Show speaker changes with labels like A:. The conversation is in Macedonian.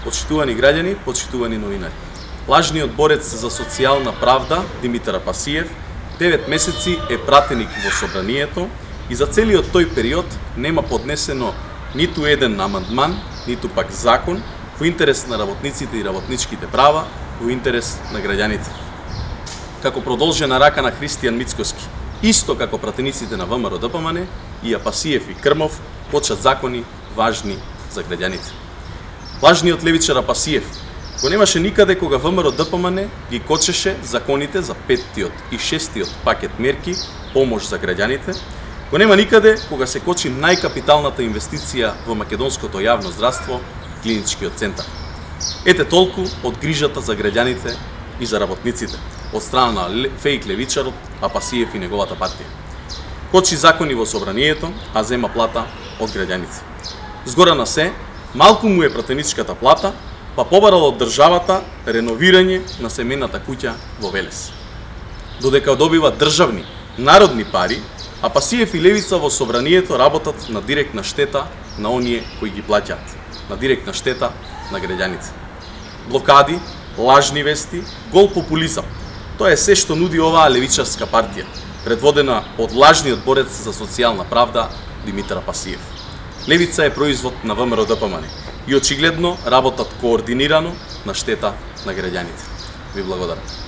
A: Почитувани граѓани, почитувани новинари. Лажниот борец за социјална правда Димитар Апасиев 9 месеци е пратеник во собранието и за целиот тој период нема поднесено ниту еден амандман, ниту пак закон во интерес на работниците и работничките права, во интерес на граѓаните. Како продолжена рака на Христијан Мицкоски, исто како пратениците на ВМРО ДПМН, и Апасиев и Крмов почат закони важни за граѓаните. Лажниот левичар Апасиев го немаше никаде кога ВМРО ДПМН ги кочеше законите за 5-тиот и 6-тиот пакет мерки помош за граѓаните, го нема никаде кога се кочи најкапиталната инвестиција во македонското јавно здравство, клиничкиот центар. Ете толку од грижата за граѓаните и за работниците од страна на фейк левичарот Апасиев и неговата партија. Кочи закони во собранието, а зема плата од граѓаните. Згора на се, малку му е пратеничката плата, па побарал од државата реновирање на семејната куќа во Велес. Додека добива државни, народни пари, Апасиев и левица во собранието работат на директна штета на оние кои ги плаќаат, на директна штета на граѓаните. Блокади, лажни вести, гол популизам. Тоа е се што нуди оваа левичарска партија, предводена од лажниот борец за социјална правда Димитар Апасиев. Левица е производ на ВМРО ДПМН и очигледно работат координирано на штета на граѓаните. Ви благодарам.